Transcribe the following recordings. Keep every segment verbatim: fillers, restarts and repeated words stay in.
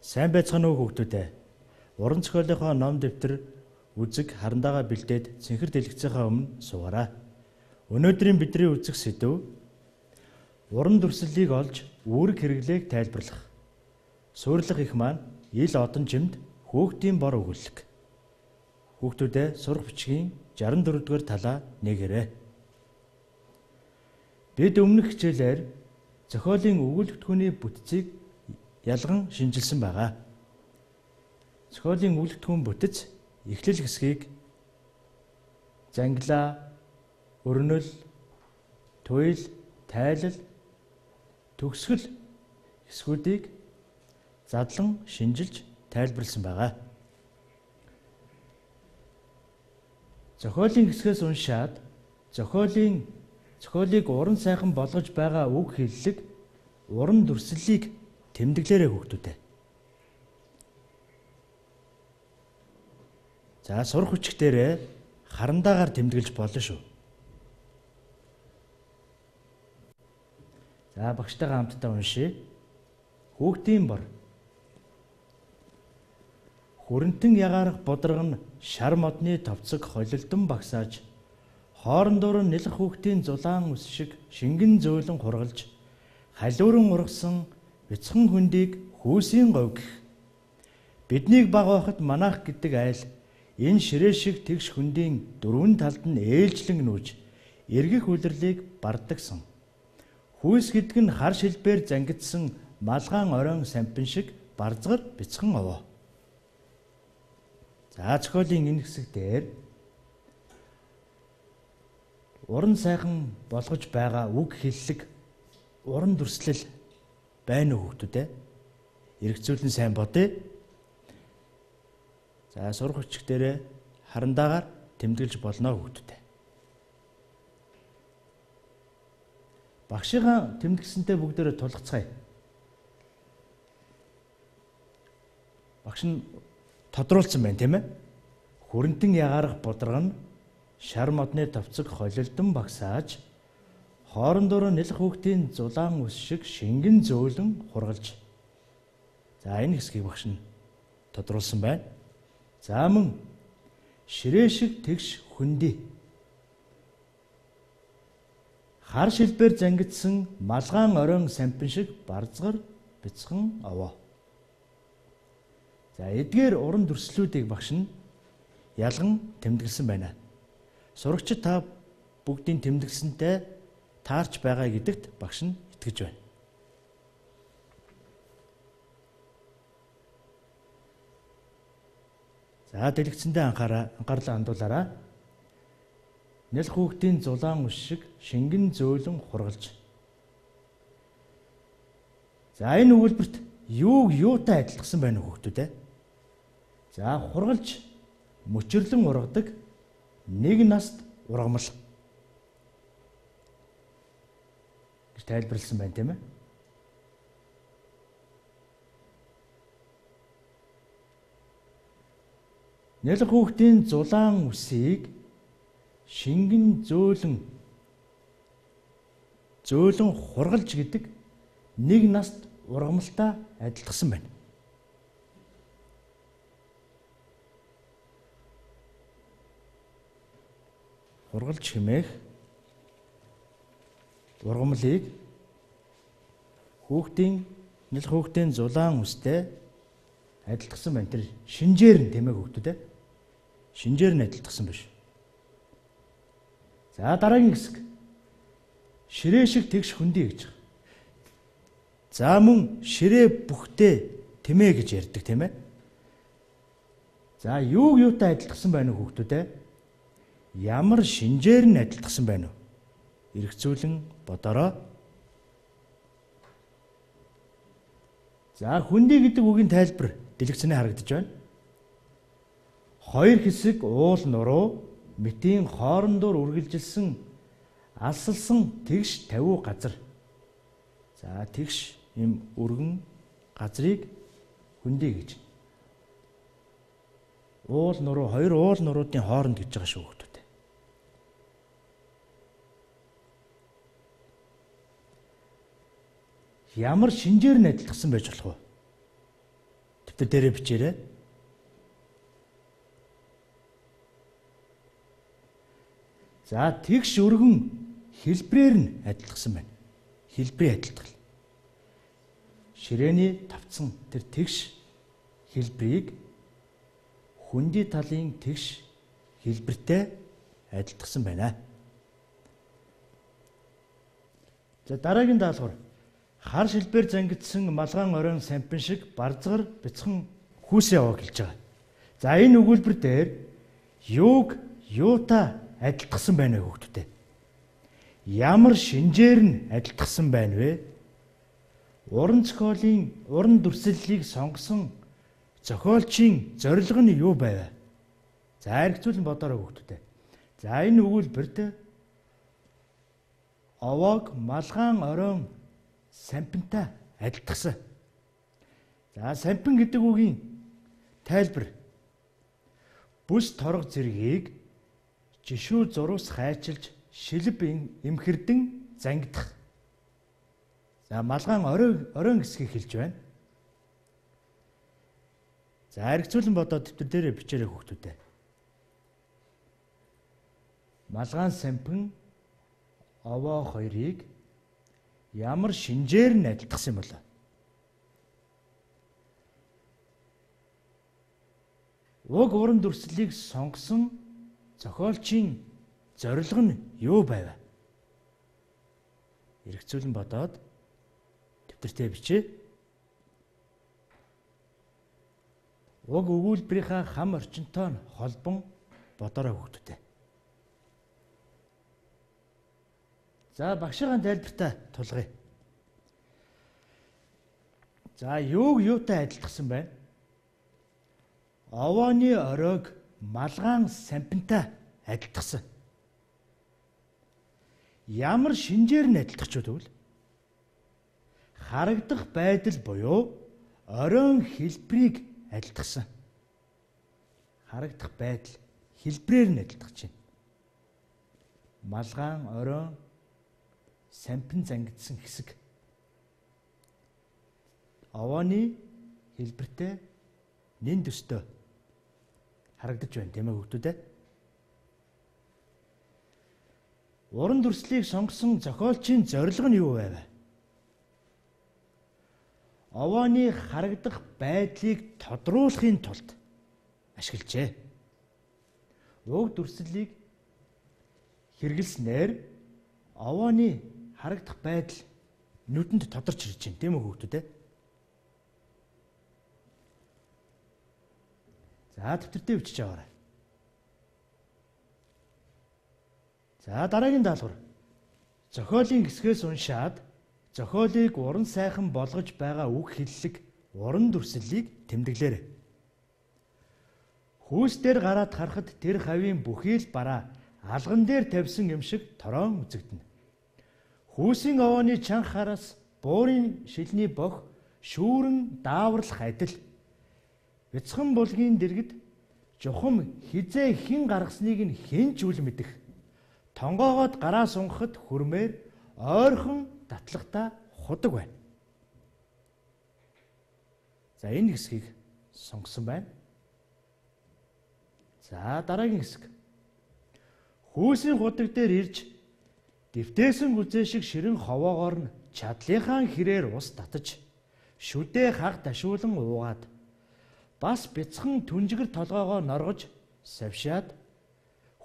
Сайн байцгаана уу хүүхдүүдээ. Уран зохиолынхоо ном дэвтэр үзэг харандаага бэлдээд цэнхэр дэлгэцийнхаа өмнө суугаарай. Өнөөдрийн бидний үзэх сэдэв уран дүрслэлийг олж үүрэг хэрэглээг тайлбарлах. Суйрлах их маань ил одон жимд хүүхдийн бор өгүүлэг. Хүүхдүүдээ сурах бичгийн шестдесет и дөрвөн дугаар талаа нэгээрэй. Бид өмнөх хичээлээр зохиолын өгүүлбэртгүүний бүтцийг ялган шинжилсэн байгаа. Зохиолын өгүүлбэртгүүн бүтэц эхлэл хэсгийг зангилаа, өрнөл, туйл, тайлал, төгсгөл хэсгүүдийг задлан шинжилж тайлбарласан байгаа. Зохиолын хэсгээс уншаад зохиолын зохиолыг уран сайхан болгож байгаа үг хэллэг, уран дүрслэлийг тэмдэглээрэй хүүхдүүдээ. За сурах хүчгтэрээ харандаагаар тэмдэглэж болно шүү. За багштайгаа хамтдаа уншия. Хүүхдийн бор. Хүрэнтэн ягарах бодрог нь шар модны товцог холилдон багсааж, хоорондоор нь нэлэх хүүхдийн зулаан үс шиг шингэн зөөлөн хургалж, халиуран ургасан бяцхан хөндийг хүүсийн говь гэх. Биднийг баг байхад манайх гэдэг айл энэ ширээ шиг тэгш хөндийн дөрвөн талд нь ээлжлэн нүүж эргэх үлрлийг бардагсан. Хүүс гэдэг нь хар шилбээр зангидсан малгаан оройн сампин шиг барзгар бяцхан овоо. За зохиолын энэ хэсэг дээр уран сайхан болгож байгаа үг хэллэг, уран дүрслэл байна уу хүүхдүүдээ? Эргцүүлэн сайн бодъё. За сурах хүчгтэрээ харандаагаар тэмдэглэж болно хүүхдүүдээ. Багшийнхаа тэмдэгсэнтэй бүгдээрээ тулгацгаая. Багш нь тодруулсан байна, тийм ээ? Хүрэнтэн ягарах бодрог нь шар модны товцог холилдон багсааж, хоорондоор нэлэх хүүхдийн зулаан үс шиг шингэн зөөлөн хургалж. За энэ хэсгийг багш нь тодруулсан байна. За мөн ширээ шиг тэгш хөндөй. Хар шилбээр зангидсан малгаан оройн сампин шиг барзгар бяцхан овоо. За эдгээр уран дүрслэлүүдийг багш нь ялган тэмдэглэсэн байна. Сурагчид та бүгдийн тэмдэглэсэнтэй таарч байгаа гэдэгт багш нь итгэж байна. За дэлгэцэндээ анхаараа, анхаарлаа хандуулаарай. Нэл хүүхдийн зулаан үс шиг шингэн зөөлөн хургалж. За энэ өгүүлбэрт юуг юутай адилтгсан байна уу хүүхдүүд ээ? За хургалж мөчрлөн ургадаг нэг наст ургамал гэж тайлбарласан байна, тийм ээ? Нэлэх хүүхдийн зулаан үсийг шингэн зөөлөн зөөлөн хургалж гэдэг нэг наст ургамалтай адилтгсан байна. Хургалж хэмээх ургамлыг хүүхдийн нэлэх хүүхдийн зулаан үстэй адилтгсан байна. Тэр шинжээр нь, тийм ээ хүүхдүүд ээ? Шинжээр нь адилтгсан биш. За дараагийн хэсэг. Ширээ шиг тэгш хөндөй гэж. За мөн ширээ бүхтэй тэмээ гэж ярьдаг, тийм ээ? За юу юутай адилтгсан байна уу хүүхдүүд ээ? Ямар шинжээр нь адилтгсан байна уу? Эргцүүлэн бодороо. За хөндөй гэдэг үгийн тайлбар дэлгэцэнээр харагдаж байна. Хоёр хэсэг уул нуруу мэтийн хоорондоор үргэлжилсэн алсалсан тэгш тавиу газар. За тэгш юм өргөн газрыг хөндөй гэж. Уул нуруу, хоёр уул нуруудын хооронд гэж байгаа шүү хүүхдүүд. Ямар шинжээр нь адилтгсан байж болох вэ? дэвтэр дээрээ бичээрэй. За тэгш өргөн хэлбрээр нь адилтгсан байна. Хэлбэрийн адилтгал. Ширээний тавцсан тэр тэгш хэлбэрийг хүндий талын тэгш хэлбэртэй адилтгсан байна. За дараагийн даалгавар. Хар шилбээр зангидсан малгаан оройн сампин шиг барзгар бяцхан хүүсээ аваа гэлж байгаа. За энэ өгүүлбэр дээр юуг юутай адилтгсан байна вэ хүүхдүүдээ? Ямар шинжээр нь адилтгсан байна вэ? Уран зохиолын уран дүрслэлийг сонгосон зохиолчийн зорилго нь юу байв? За эргцүүлэн бодоорой хүүхдүүдээ. За энэ өгүүлбэрт овоог малгаан оройн сампинтай адилтгсан. За сампин гэдэг үгийн тайлбар. Бүс торго зэргийг жишүү зурус хайчилж шилб эмхэрдэн зангидах. За малгаан оройн оройн гэсгийг хэлж байна. За эргцүүлэн бодоод дэвтэр дээрээ бичээрэй хүүхдүүдээ. Малгаан сампин овоо хоёрыг ямар шинжээр нь адилтгсан юм бол? Уг уран дүрслэлийг сонгосон зохиолчийн зорилго нь юу байв? Эргцүүлэн бодоод дэвтэртээ бичээ. Уг өгүүлбэрийнхаа хам орчинтой нь холбон бодорой хүүхдүүдээ. За багшийн тайлбартаа тулгая. За юуг юутай адилтгсан байна? Овооны оройг малгаан сампинтай адилтгсан. Ямар шинжээр нь адилтгч вэ? Харагдах байдал буюу оройн хэлбэрийг адилтгсан. Харагдах байдал хэлбрээр нь адилтгаж байна. Малгаан оройн сампин зангидсан хэсэг. Овооны хэлбэртэй нэн төстэй харагдаж байна тийм ээ хүүхдүүд ээ. Уран дүрслэлийг сонгосон зохиолчийн зорилго нь юу байв? Овооны харагдах байдлыг тодруулахын тулд ашиглажээ. Уг дүрслэлийг хэрэглэснээр овооны харагдах байдал нүдэнд тодорч ирж байна тийм үү хүүхдүүд ээ. За дэвтэртээ бичиж аваарай. За дараагийн даалгавар. Зохиолын хэсгээс уншаад зохиолыг уран сайхан болгож байгаа үг хэллэг уран дүрслэлийг тэмдэглээрэй. Хүүс дээр гараад харахад тэр хавийн бүхий л бараа алган дээр тавьсан юм шиг тороон үзэгдэнэ. Хүүсийн овооны чанхараас буурын шилний бох шүүрэн дааварлах адил. Бяцхан булгийн дэргэд жухам хизээ хэн гаргасныг нь хэн ч үл мэдэх. Тонгоогоод гараа сунгахад хүрмээр ойрхон татлагтаа худаг байна. За энэ хэсгийг сонгосон байна. За дараагийн хэсэг. Хүүсийн худаг дээр ирж дэвтээсэн гүзээ шиг ширэн ховоогоор нь чадлынхаа хэрээр ус татаж шүдээ хаг ташуулан уугаад бас бяцхан түнжигэр толгоогоо норгож савшаад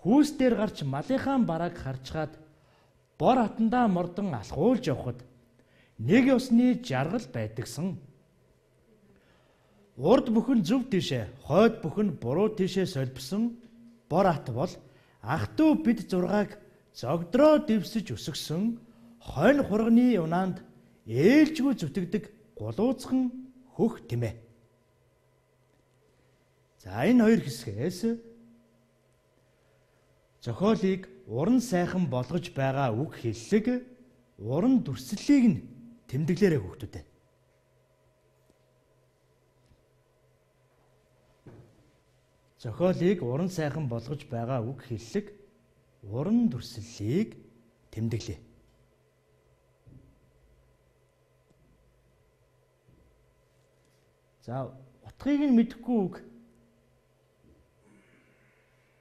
хүүс дээр гарч малынхаа барааг харчгаад бор хатандаа мордон алхуулж явхад нэг усны жаргал байдагсан. Урд бүхэн зөв тийшээ, хойд бүхэн буруу тийшээ солбсон бор хат бол ах дүү бид зургааг зогдроо дэвсэж өсгсөн хонь хурганы унаанд ээлжгүй зүтгэдэг гулууцхан хөх тэмээ. За энэ хоёр хэсгээс зохиолыг уран сайхан болгож байгаа үг хэллэг уран дүрслэлийг нь тэмдэглээрэй хүүхдүүдээ. Зохиолыг уран сайхан болгож байгаа үг хэллэг уран дүрслэлийг тэмдэглэе. За утгыг нь мэдэхгүй үг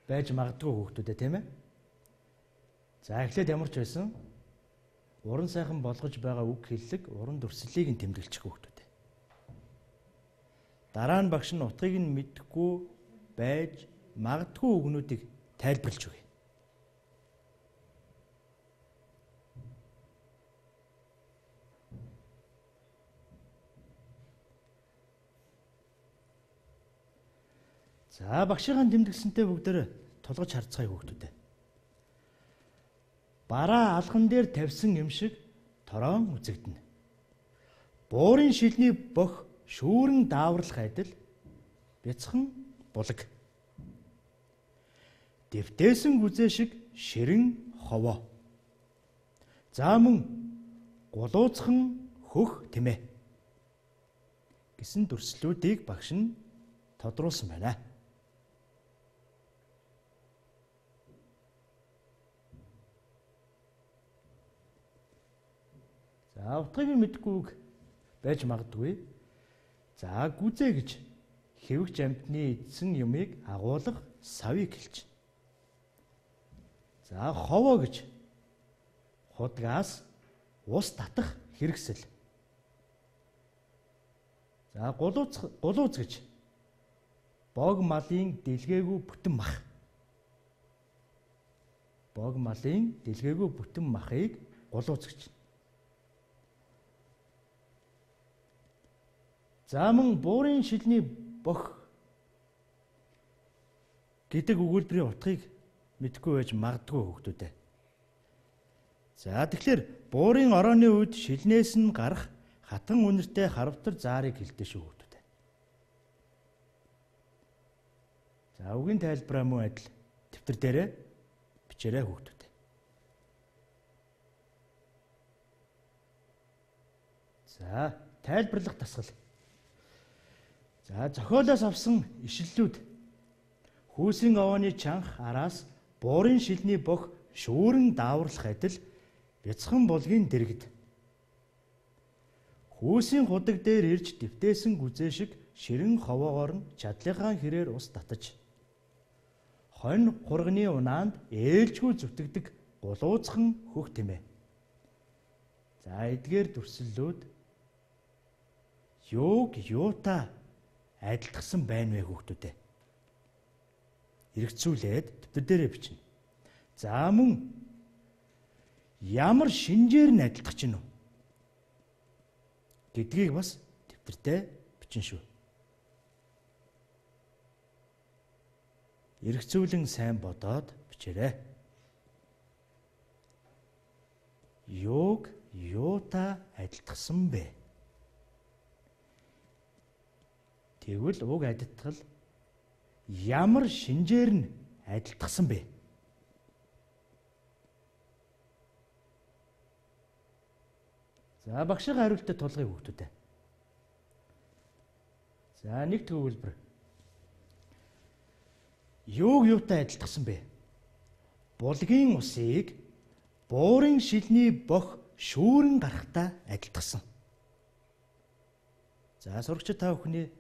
байж магадгүй хүүхдүүдээ, тийм ээ. За эхлээд ямар ч байсан уран сайхан болгож байгаа үг хэллэг, уран дүрслэлийг нь тэмдэглэж хүүхдүүдээ. Дараа нь багш нь утгыг нь мэдэхгүй байж магадгүй үгнүүдийг тайлбарлаж өгье. За багшийн тэмдэглэсэнтэй бүгдээр тулгаж харцгаая хүүхдүүдээ. Бараа алган дээр тавьсан юм шиг тороон үзэгдэнэ. Буурын шилний бох шүүрэн дааварлах адил бяцхан булаг. Дэвтээсэн гүзээ шиг ширэн ховоо. За мөн гулууцхан хөх тэмээ гэсэн дүрслэлүүдийг багш нь тодруулсан байна. За утгыг нь мэдэхгүй үг байж магадгүй. За гүзээ гэж хэвэгч амьтны эдсэн юмыг агуулга савыг хэлж. За ховоо гэж худгаас ус татах хэрэгсэл. За гулууц гулууц гэж бог малын дэлгээгүй бүтэн мах. Бог малын дэлгээгүй бүтэн махыг гулууц гэж. За мөн буурын шилний бох гэдэг өгүүлбэрийн утгыг мэдэхгүй байж магадгүй хүүхдүүдээ. За тэгэхээр буурын орооны үед шилнээс нь гарах хатан үнэртэй харвтар заарыг хэлдэг шүү хүүхдүүдээ. За үгийн тайлбараа мөн адил дэвтэр дээрээ бичээрэй хүүхдүүдээ. За тайлбарлах дасгал. За зохиолоос авсан ишлэлүүд хүйсийн овооны чанх араас буурын шилний бох шүүрэн дааварлах адил бяцхан булгийн дэргэд. Хүйсийн худаг дээр ирж дэвтээсэн гүзээ шиг ширэн ховоогоор нь чадлынхаа хэрээр ус татаж хонь хурганы унаанд ээлжгүй зүтгэдэг гулууцхан хөх тэмээ. За эдгээр дүрслэлүүд юуг юутай адилтгсан байна вэ хүүхдүүдээ? Эргэцүүлээд дэвтэр дээрээ бичнэ. За мөн ямар шинжээр нь адилтгах чинь вэ гэдгийг бас дэвтэртээ бичнэ шүү. Эргэцүүлэн сайн бодоод бичээрэй. Юуг юутай адилтгсан бэ? Тэгвэл уг адилтгал ямар шинжээр нь адилтгсан бэ? За багшийн хариултад тулгыг хүүхдүүдээ. За нэгдүгээр өгүүлбэр. Юуг юутай адилтгсан бэ? Булгийн усыг буурын шилний бох шүүрэн гарахтай адилтгсан. За сурагчид та бүхний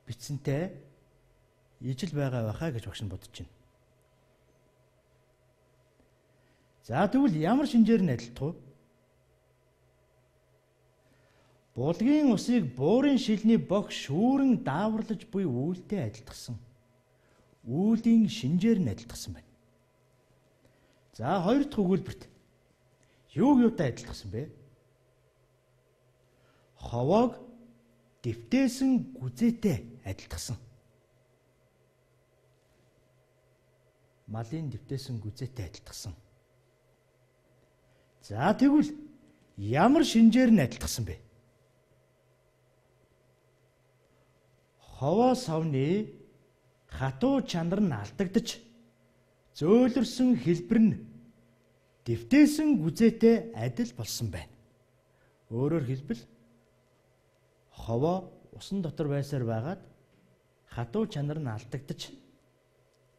бичсэнтэй ижил байгаа байхаа гэж багш нь бодож байна. За тэгвэл ямар шинжээр нь адилтгав? Булгийн усыг буурын шилний бох шүүрэн дааварлаж буй үйлдэл адилтгсан. Үүлийн шинжээр нь адилтгсан байна. За хоёр дахь өгүүлбэрт юуг юутай адилтгсан бэ? Ховоог дэвтээсэн гүзээтэй адилтгсан. Малын дэвтээсэн гүзээтэй адилтгсан. За тэгвэл ямар шинжээр нь адилтгсан бэ? Ховоо савны хатуу чанар нь алдагдаж зөөлрсөн хэлбэр нь дэвтээсэн гүзээтэй адил болсон байна. Өөрөөр хэлбэл ховоо усан дотор байсаар байгаад хатуу чанар нь алдагдаж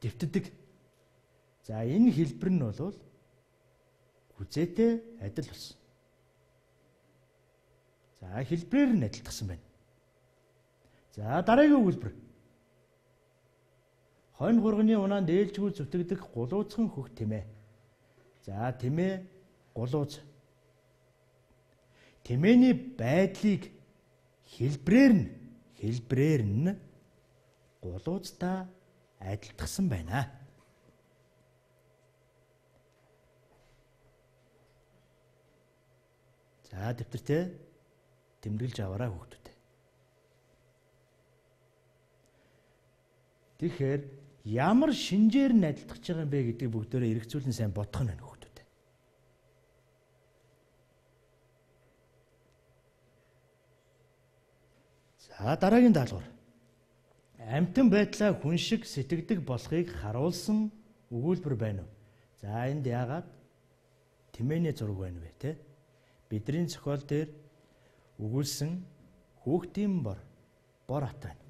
дэвтдэг. За энэ хэлбэр нь бол гүзээтэй адил болсон. За хэлбэрээр нь адилтгсан байна. За дараагийн өгүүлбэр. Хонь хурганы унаанд ээлжгүй зүтгэдэг гулууцхан хөх тэмээ. За тэмээ гулууц. Тэмээний байдлыг хэлбрээр нь хэлбрээр нь гулууцтай адилтгсан байна. За дэвтэртээ тэмдэглэж аваарай хүүхдүүд. Тэгэхээр ямар шинжээр нь адилтгаж байгаа юм бэ гэдэг бүгдээрээ эргцүүлэн сайн бодох нь байна хүүхдүүд. За дараагийн даалгавар. Амьтан байдлаа хүн шиг сэтгэдэг болохыг харуулсан өгүүлбэр байна уу? За энд яагаад тэмээний зураг байна вэ те? Бидний зохиол дээр өгүүлсэн хүүхдийн бор бор ат байна.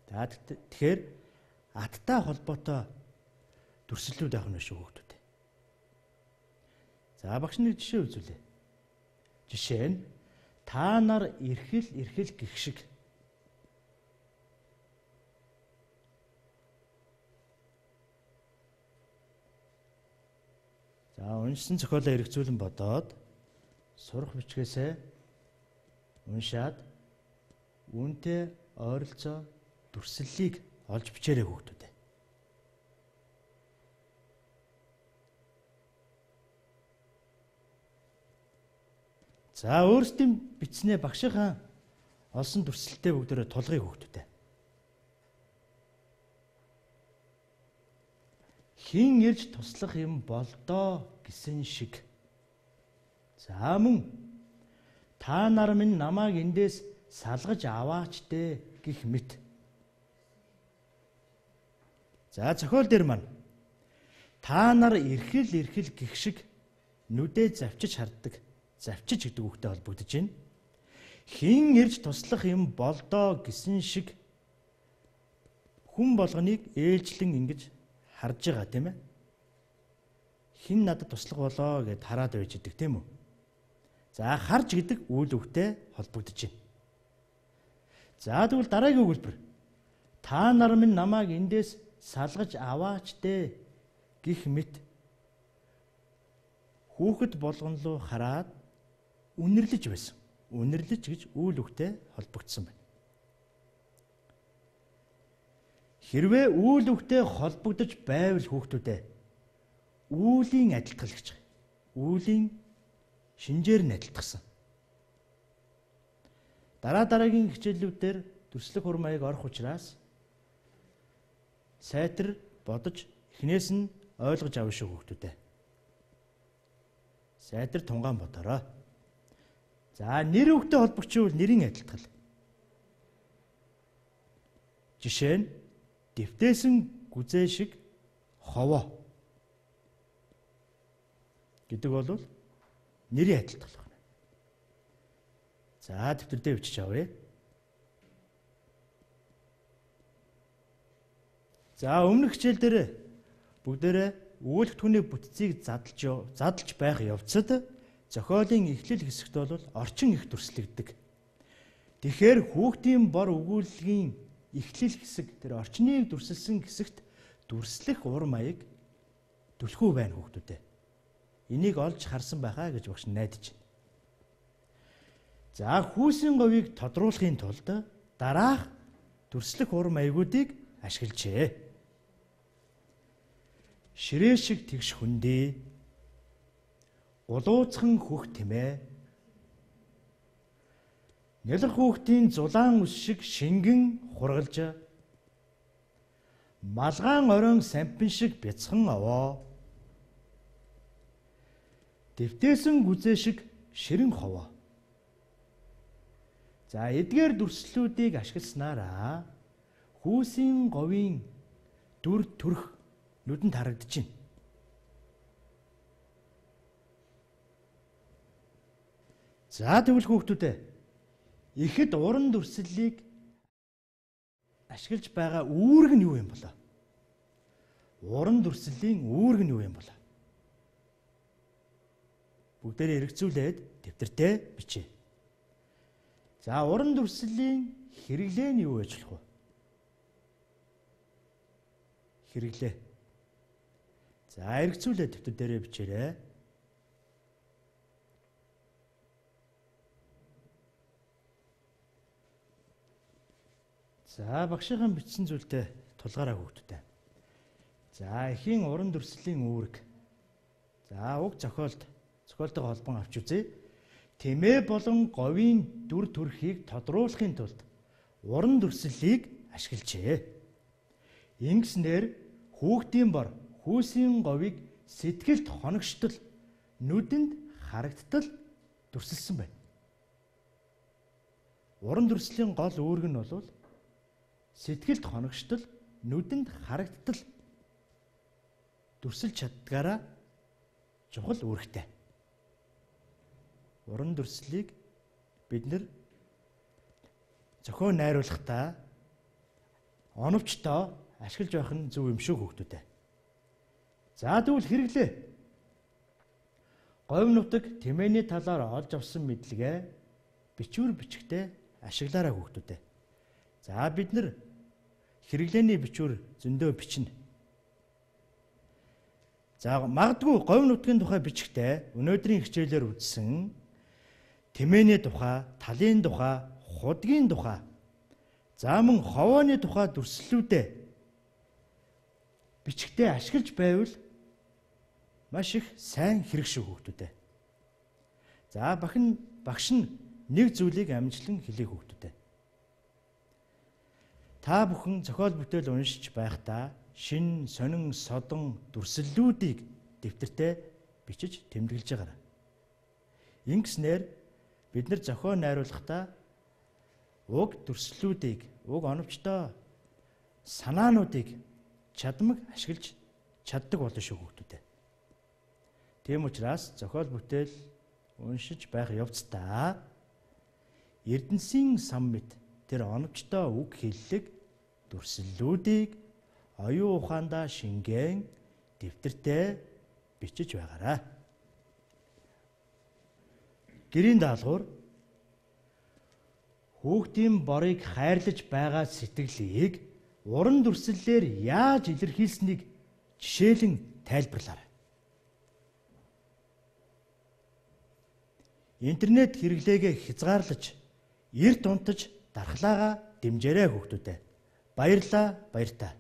За тэгэхээр аттай холбоотой дүрслэлүүд авах нь шүү хүүхдүүд. За багш нэг жишээ үзүүлээ. Жишээ нь та нар эрхэл эрхэл гэх шиг. За уншсан зохиолоо эргцүүлэн бодоод сурах бичгээсээ уншаад үүнтэй ойролцоо дүрслэлийг олж бичээрэй хүүхдүүд. За өөрсдийн бичснээ багшийнхаа олсон дүрслэлтэй бүгдээрээ тулгыг хүүхдүүд. Хин ирж туслах юм болдоо гэсэн шиг. За мөн та нар минь намайг эндээс салгаж аваач дээ гэх мэт. За зохиол дээр маань та нар эрхэл эрхэл гэх шиг нүдээ завчиж харддаг. Завчиж гэдэг үгтэй холбогдож байна. Хин ирж туслах юм болдоо гэсэн шиг хүн болгоныг ээлжлэн ингэж харж байгаа тийм ээ. Хин надад туслах болоо гэд хараад байж идэг тийм үү? За харж гэдэг үйл үгтэй холбогдож байна. За тэгвэл дараагийн өгүүлбэр. Та нар минь намайг эндээс салгаж аваач дээ гэх мэт хүүхэд болгон руу хараад үнэрлэж байсан. Үнэрлэж гэж үйл үгтэй холбогдсон байна. Хэрвээ үйл үгтэй холбогдож байвал хүүхдүүдээ үүлийн адилтгалагч. Үүлийн шинжээр нь адилтгсан. Дараа дараагийн хичээлүүдээр дүрслэх ур маяг орох учраас сайтар бодож эхнээс нь ойлгож авна шүү хүүхдүүдээ. Сайтар тунгаан бодорой. За нэр үгтэй холбогчвол нэрийн адилтгал. Жишээ нь дэвтээсэн гүзээ шиг ховоо гэдэг бол нэрийн адилтгал байна. За дэвтэр дээр бичиж авъя. За өмнөх хичээл дээр бүгдээрээ өгүүлбэртгүүний бүтцийг задлж задлж байх явцад зохиолын эхлэл хэсэгт бол орчин их дүрслэгддэг. Тэгэхээр хүүхдийн бор өгүүлгийн эхлэл хэсэг тэр орчныг дүрсэлсэн хэсэгт дүрслэх ур маяг түлхүү байна хүүхдүүдээ. Энийг олж харсан байхаа гэж багш найдаж байна. За хүүсийн говийг тодруулахын тулд дараах дүрслэх ур маягуудыг ашиглажээ. Ширээ шиг тэгш хүндий, гулууцхан хөх тэмээ, нялх хүүхдийн зулаан ус шиг шингэн хургалж, малгаан оройн сампин шиг бяцхан овоо, дэвтээсэн гүзээ шиг ширэн ховоо. За эдгээр дүрслэлүүдийг ашигласнараа хүүсийн говийн дүр төрх нүдэнд харагдаж байна. За тэгвэл хүүхдүүдээ ихэд уран дүрслэлийг ашиглаж байгаа үүрэг нь юу юм болоо? Уран дүрслэлийн үүрэг нь юу юм болоо? Бүгдээрээ эргцүүлээд дэвтэртээ бичээ. За уран дүрслэлийн хэрэглээ нь юу байж болох вэ? Хэрэглээ. За эргцүүлээ дэвтэр дээрээ бичээрэй. За багшийн бичсэн зүйлтэй тулгаараа хүүхдүүдээ. За эхийн уран дүрслэлийн үүрэг. За уг зохиолд зохиолтойгоо холбон авч үзье. Тэмээ болон говийн дүр төрхийг тодруулахын тулд уран дүрслэлийг ашиглажээ. Ингэснээр хүүхдийн бор хүүсийн говийг сэтгэлд хоногштол, нүдэнд харагдтал дүрсэлсэн байна. Уран дүрслэлийн гол үүрэг нь бол сэтгэлд хоногштол, нүдэнд харагдтал дүрсэлж чаддгаараа чухал үүрэгтэй. Уран дүрслэлийг бид нэр зохион найруулахдаа оновчтой ашиглаж байх нь зөв юм шүү хүүхдүүдээ. За тэгвэл хэрэглээ. Говь нутаг тэмээний талаар олж авсан мэдлэгээ бичвэр бичгтээ ашиглаарай хүүхдүүдээ. За бид нар хэрэглээний бичвэр зөндөө бичнэ. За магадгүй говь нутгийн тухай бичгтээ өнөөдрийн хичээлээр үзсэн тэмээний тухай, талын тухай, худгийн тухай, за мөн ховооны тухай дүрслэлүүдээ бичгтээ ашиглаж байвал маш их сайн хэрэг шүү хүүхдүүдээ. За бахан багш нь нэг зүйлийг амжилан хэлээ хүүхдүүдээ. Та бүхэн зохиол бүтээл уншиж байхдаа шин, сонин, содон дүрслэлүүдийг дэвтэртээ бичиж тэмдэглэж байгаарай. Ингэснээр бид нар зохион найруулахдаа уг дүрслэлүүдийг, уг оновчтой санаануудыг чадмаг ашиглаж чаддаг болно шүү хүүхдүүдээ. Тийм учраас зохиол бүтээл уншиж байх явцдаа Эрдэнэсийн сан мэд тэр оновчтой үг хэллэг дүрслэлүүдийг оюун ухаандаа шингээн дэвтэртээ бичиж байгаарай. Гэрийн даалгавар хүүхдийн борыг хайрлаж байгаа сэтгэлийг уран дүрслэлээр яаж илэрхийлсэнийг жишээлэн тайлбарлаарай. Интернет хэрэглээгээ хязгаарлаж, эрт унтаж дархлаагаа дэмжээрэй хүүхдүүдээ. Баярлалаа, баяртай.